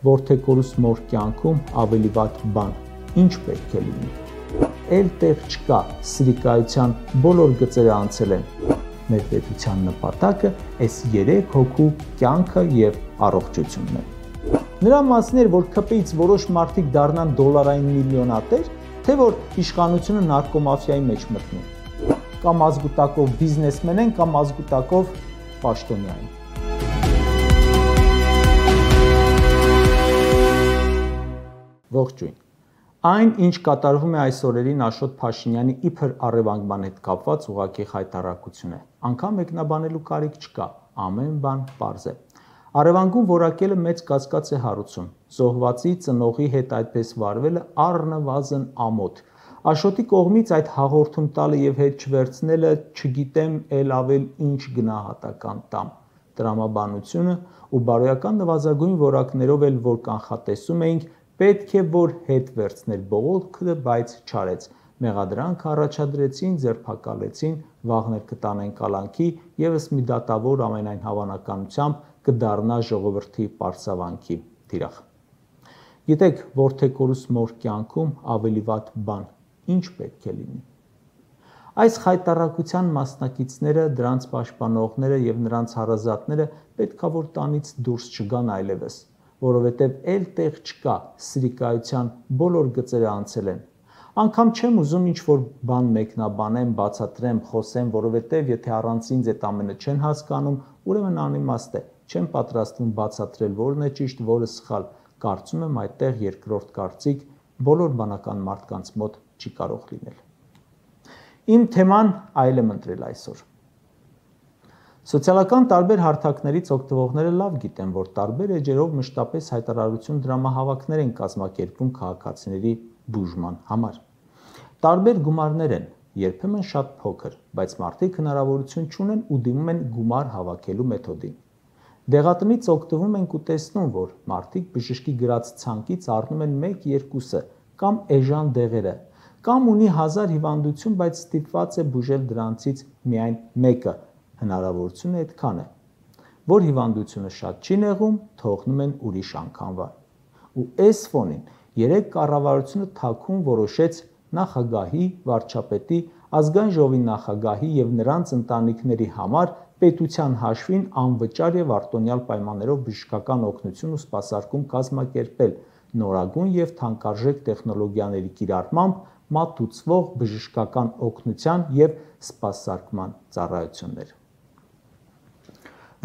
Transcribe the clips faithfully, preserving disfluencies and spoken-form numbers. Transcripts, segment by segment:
որդեքորուս մոր կյանքում ավելի վատ բան ինչ պետք է լինի։ Էլ տեղ չկա, սրիկայության բոլոր գծերը անցել են։ Մեր պետության նպատակը այս երեք հոգու կյանքը եւ առողջությունն է։ Նրա մասն էր, որ ԿՊ-ից որոշ մարդիկ դառնան դոլարային միլիոնատեր, թե որ իշխանությունը նարկոմաֆիայի մեջ մտնի։ Կամ ազգուտակով բիզնեսմեն են, կամ ազգուտակով պաշտոնյա են։ Ողջույն։ Այն, ինչ կատարվում է այս օրերին Աշոտ Փաշինյանի իբր առևանգման հետ կապված ուղղակի խայտառակություն է։ Անգամ մեկնաբանելու կարիք չկա, ամեն բան պարզ է։ Առևանգում որակելը մեծ կասկած է հարուցում։ Զոհվածի ծնողի հետ այդպես վարվելը առնվազն ամոթ։ Աշոտի կողմից այդ հաղորդում տալը եւ հետ չվերցնելը չգիտեմ էլ ավել ինչ գնահատական տամ։ Տրամաբանությունը ու բարոյական նվազագույն որակներով էլ որ կանխատեսում էինք, պետք է որ հետ վերցներ բողոքը, բայց չարեց։ Մեղադրանք առաջադրեցին, ձերբակալեցին, վաղներ կտանեն կալանքի, եւս մի դատավոր ամենայն հավանականությամբ կդառնա ժողովրդի պարսավանքի թիրախ։ Գիտեք, որդեքորուս մոր կյանքում ավելի վատ բան ինչ պետք է լինի։ Այս խայտառակության մասնակիցները, դրանց պաշտպանողները եւ նրանց հարազատները պետքա որ տանից դուրս չգան այլևս, որովհետև էլ տեղ չկա, սրիկայության բոլոր գծերը անցել են։ Անգամ չեմ ուզում ինչ-որ բան մեկնաբանեմ, բացատրեմ, խոսեմ, որովհետև եթե առանց ինձ այդ ամենը չեն հասկանում, ուրեմն անիմաստ է, չեմ պատրաստվում բացատրել որն է ճիշտ, որը սխալ, կարծում եմ այդտեղ երկրորդ կարծիք բոլոր բանական մարդկանց մոտ չի կարող լինել։ Իմ թեման այլ եմ ընտրել այսօր։ Սոցիալական տարբեր հարթակներից օգտվողները լավ գիտեն, որ տարբեր էջերով մշտապես հայտարարություն դրամահավաքներ են կազմակերպում քաղաքացիների բուժման համար։ Տարբեր գումարներ են, երբեմն շատ փոքր, բայց մարդիկ հնարավորություն չունեն ու դիմում են գումար հավաքելու մեթոդին։ Դեղատնից օգտվում ենք ու տեսնում, որ մարդիկ բժշկի գրած ցանկից առնում են մեկ-երկուսը կամ էժան դեղերը, կամ ունի հազար հիվանդություն, բայց ստիպված է բուժել դրանցից միայն մեկը։ Հնարավորությունը այդքան է, որ հիվանդությունը շատ չի նեղում, թողնում են ուրիշ անգամվա։ Ու այս ֆոնին երեք կառավարությունը թաքուն որոշեց նախագահի, վարչապետի, ազգային ժողովի նախագահի եւ նրանց ընտանիքների համար պետության հաշվին անվճար եւ արտոնյալ պայմաններով բժշկական օգնություն ու սպասարկում կազմակերպել նորագույն եւ թանկարժեք տեխնոլոգիաների կիրառմամբ մատուցվող բժշկական օգնության եւ սպասարկման ծառայություններ։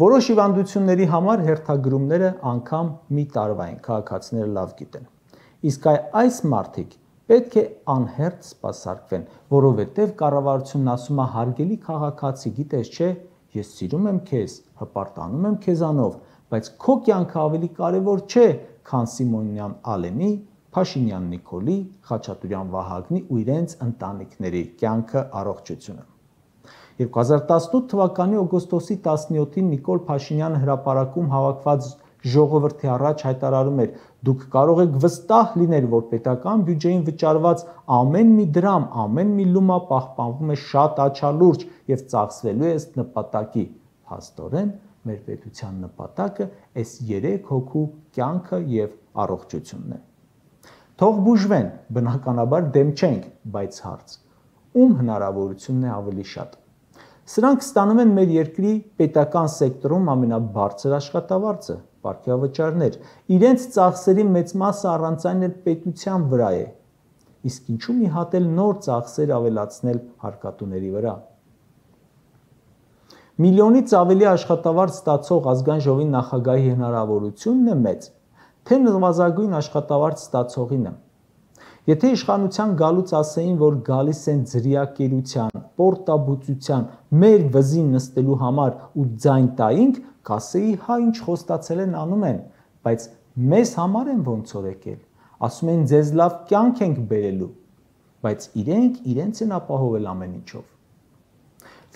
Որոշ հիվանդությունների համար հերթագրումները անգամ մի տարվա են, քաղաքացիները լավ գիտեն։ Իսկ այս մարդիկ պետք է անհերթ սպասարկվեն, որովհետև կառավարությունն ասում է հարգելի քաղաքացի, գիտես չէ, ես սիրում եմ քեզ, հպարտանում եմ քեզանով, բայց քո կյանքը ավելի կարևոր չէ, քան Սիմոնյան Ալենի, Փաշինյան Նիկոլի, Խաչատուրյան Վահագնի ու իրենց ընտանիքների կյանքը, առողջությունը։ երկու հազար տասնութ թվականի օգոստոսի տասնյոթին Նիկոլ Փաշինյանը հրապարակում հավաքված ժողովրդի առաջ հայտարարում էր. դուք կարող եք վստահ լինել, որ պետական բյուջեին վճարված ամեն մի դրամ, ամեն մի լումա պահպանվում է շատ աչալուրջ եւ ծախսվելու է ըստ նպատակի։ Փաստորեն մեր պետության նպատակը այս երեք հոգու կյանքը եւ առողջությունն է։ Թող բուժվեն, բնականաբար դեմ չենք, բայց հարց. ում հնարավորությունն է ավելի շատ։ Սրանք ստանում են մեր երկրի պետական սեկտորում ամենաբարձր աշխատավարձը, պարգևավճարներ, իրենց ծախսերի մեծ մասը առանց այն էլ պետության վրա է, իսկ ինչու մի հատ էլ նոր ծախսեր ավելացնել հարկատուների վրա։ Միլիոնից ավելի աշխատավարձ ստացող ազգային ժողովի նախագահի հնարավորությունն է մեծ, թե նվազագույն աշխատավարձ ստացողինը։ Եթե իշխանության գալուց ասեին, որ գալիս են ձրիակերության, պորտաբուծության, մեր վզին նստելու համար ու ձայն տայինք, կասեի, հա ինչ խոստացել են անում են, բայց մեզ համար են ոնց որ եկել, ասում են ձեզ լավ կյանք ենք բերելու, բայց իրենք իրենց են ապահովել ամեն ինչով։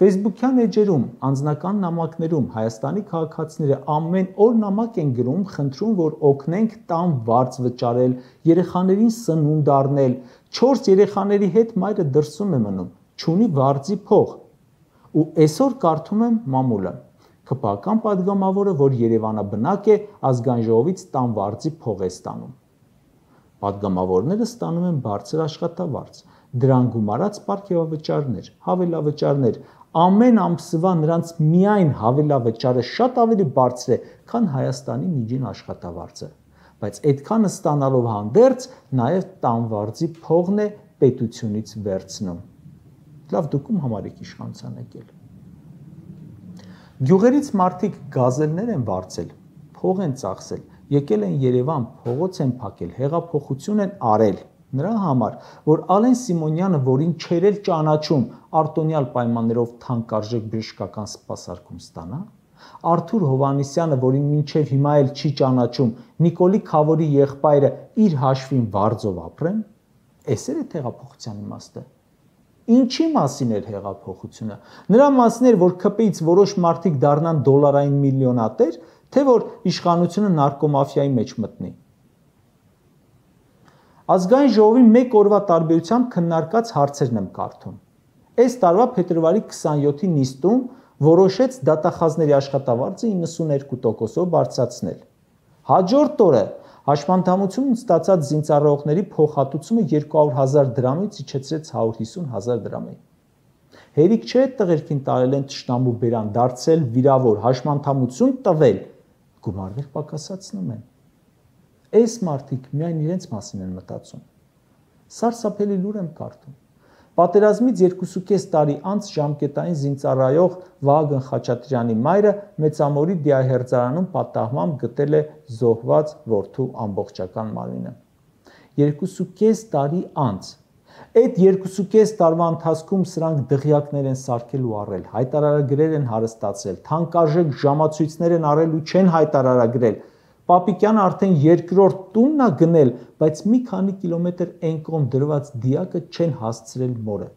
Facebook-յան էջերում, անձնական նամակներում Հայաստանի քաղաքացիները ամեն օր նամակ են գրում, խնդրում, որ օգնենք տան վարձ վճարել, երեխաներին սնունդ առնել, չորս երեխաների հետ մայրը դրսում է մնում, չունի վարձի փող։ Ու այսօր կարդում եմ մամուլը. ՔՓ-ական падգամավորը, որ Երևանաբնակ է, ազգային ժողովից տան վարձի փող է ստանում։ Պատգամավորները ստանում են բարձր աշխատավարձ, դրան գումարած պարգևավճարներ, հավելավճարներ, ամեն ամսվա նրանց միայն հավելավճարը շատ ավելի բարձր է, քան Հայաստանի միջին աշխատավարձը, բայց այդքանը ստանալով հանդերձ նաև տան վարձի փողն է պետությունից վերցնում։ Լավ, դուք ում համար եք իշխանության եկել։ Գյուղերից մարդիկ գազելներ են վարձել, փող են ծախսել, եկել են Երևան, փողոց են փակել, հեղափոխություն են արել, նրա համար, որ Ալեն Սիմոնյանը, որին չէր էլ ճանաչում, արտոնյալ պայմաններով թանկարժեք բժշկական սպասարկում ստանա, Արթուր Հովհաննիսյանը, որին մինչև հիմա էլ չի ճանաչում, Նիկոլի Քավորի եղբայրը իր հաշվին վարձով ապրեն, էս էր հեղափոխության իմաստը։ Ինչի մասին էր հեղափոխությունը։ Նրա մասին էր, որ ՔՊ-ից որոշ մարդիկ դառնան դոլարային միլիոնատեր, թե որ իշխանությունը նարկոմաֆիայի մեջ մտնի։ Ազգային ժողովի մեկ օրվա տարբերությամբ քննարկած հարցերն եմ կարդում։ Այս տարվա փետրվարի քսաներկուի նիստում որոշեց դատախազների աշխատավարձը իննսուններկու տոկոսով բարձրացնել։ Հաջորդ օրը հաշմանդամությունն ստացած զինծառայողների փոխհատուցումը երկու հարյուր հազար դրամից իջեցրեց հարյուր հիսուն հազար դրամի։ Հերիք չէ տղերքին տարել են թշնամու բերան, դարձել վիրավոր, հաշմանդամություն տվել, գումարներ պակասացնում են։ Այս մարդիկ միայն իրենց մասին են մտածում։ Սարսափելի լուր եմ կարդում։ Պատերազմից երկուսուկես տարի անց ժամկետային զինծառայող Վահագն Խաչատրյանի մայրը Մեծամորի դիահերձարանում պատահմամբ գտել է զոհված որդու ամբողջական մարմինը։ Երկուսուկես տարի անց։ Այդ երկուսուկես տարվա ընթացքում սրանք դղյակներ են սարքել ու առել, հայտարարագրեր են հարստացրել, թանկարժեք ժամացույցներ են առել ու չեն հայտարարագրել։ Պապիկյանը արդեն երկրորդ տունն է գնել, բայց մի քանի կիլոմետր այն կողմ դրված դիակը չեն հասցրել մորը։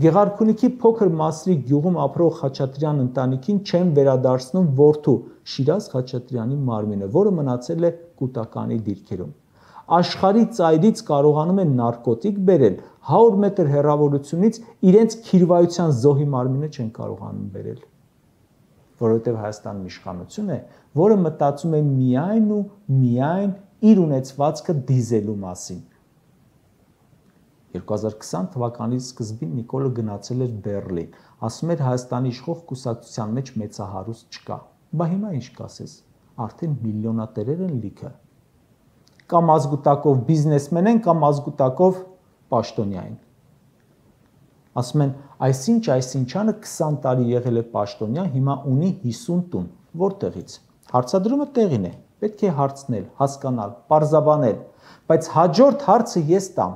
Գեղարքունիքի փոքր Մասրիկ գյուղում ապրող Խաչատրյան ընտանիքին չեն վերադարձնում որդու Շիրազ Խաչատրյանի մարմինը, որը մնացել է կൂട്ടականի դիրքերում։ Աշխարհի ծայրից կարողանում են նարկոտիկ բերել, հարյուր մետր հեռավորությունից իրենց քիրվայության զոհի մարմինը չեն կարողանում բերել։ Որովհետև Հայաստանում իշխանություն է, որը մտածում է միայն ու միայն իր ունեցվածքը դիզելու մասին։ երկու հազար քսան թվականի սկզբին Նիկոլը գնացել էր Բեռլին, ասում էր Հայաստանի իշխող կուսակցության մեջ մեծահարուստ չկա։ Բա հիմա ինչ կասես, արդեն միլիոնատերեր են լիքը։ Կամ ազգուտակով բիզնեսմեն են, կամ ազգուտակով պաշտոնյա են։ Ասում են, այսինչ այսինչանը քսան տարի եղել է պաշտոնյա, հիմա ունի հիսուն տուն, որտեղից։ Հարցադրումը տեղին է, պետք է հարցնել, հասկանալ, պարզաբանել, բայց հաջորդ հարցը ես տամ։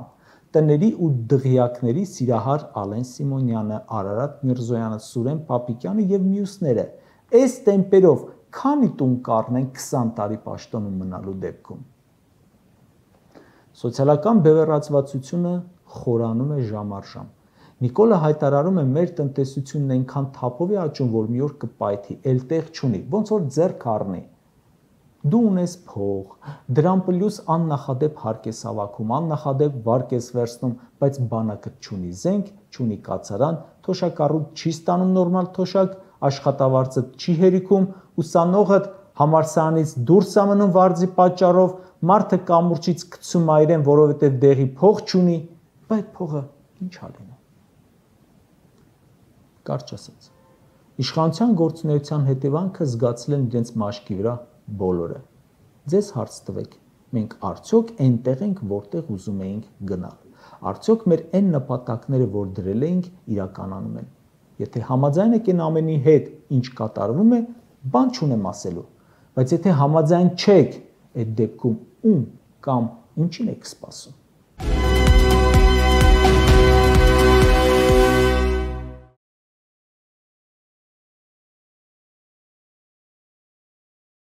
Տների ու դղյակների Սիրահար Ալեն Սիմոնյանը, Արարատ Միրզոյանը, Սուրեն Պապիկյանը եւ մյուսները այս տեմպերով քանի տուն կառնեն քսան տարի պաշտոնում մնալու դեպքում։ Սոցիալական բևեռացվածությունը խորանում է ժամ առ ժամ։ Նիկոլը հայտարարում է, մեր տնտեսությունն այնքան թափով է աճում, որ մի օր կպայթի, էլ տեղ չունի, ոնց որ ձեռք առնի։ Դու ունես փող, դրան պլյուս աննախադեպ հարկ ես հավաքում, աննախադեպ վարկ ես վերցնում, բայց բանակը չունի զենք, չունի կացարան, թոշակառուտ չի ստանում նորմալ թոշակ, աշխատավարձը չի հերիքում, ուսանողը համալսարանից դուրս է մնում վարձի պատճառով, մարդը կամուրջից գցում է իրեն, որովհետև դեղի փող չունի, բայց փողը ինչ ա լինում։ Կարճ ասած, իշխանության գործունեության հետևանքը զգացել են իրենց մաշկի վրա բոլորը։ Ձեզ հարց տվեք, մենք արդյոք այնտեղ ենք, որտեղ ուզում էինք գնալ։ Արդյոք մեր այն նպատակները, որ դրել էինք, իրականանում են։ Եթե համաձայն եք այն ամենի հետ, ինչ կատարվում է, բան չունեմ ասելու, բայց եթե համաձայն չեք, այդ դեպքում ում կամ ինչին եք սպասում։